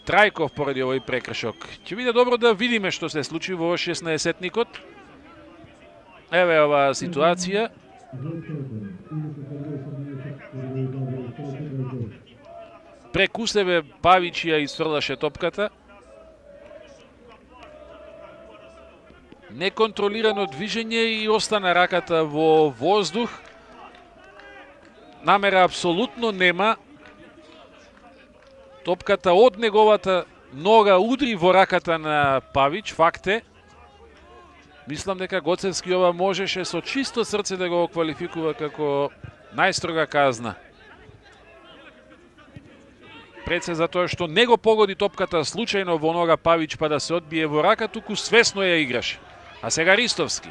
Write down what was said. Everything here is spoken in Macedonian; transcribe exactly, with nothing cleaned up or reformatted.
Трајков поради овој прекршок. Ќе биде добро да видиме што се случи во шеснаесетникот. Еве оваа ситуација. Преку себе Павич ја изфрлаше топката. Неконтролирано движење и остана раката во воздух. Намера апсолутно нема. Топката од неговата нога удри во раката на Павич, факт е. Мислам дека Гоцевски ова можеше со чисто срце да го квалификува како најстрога казна. Пред се за тоа што не го погоди топката случајно во нога Павич па да се одбие во рака, туку свесно ја играше. А сега Ристовски.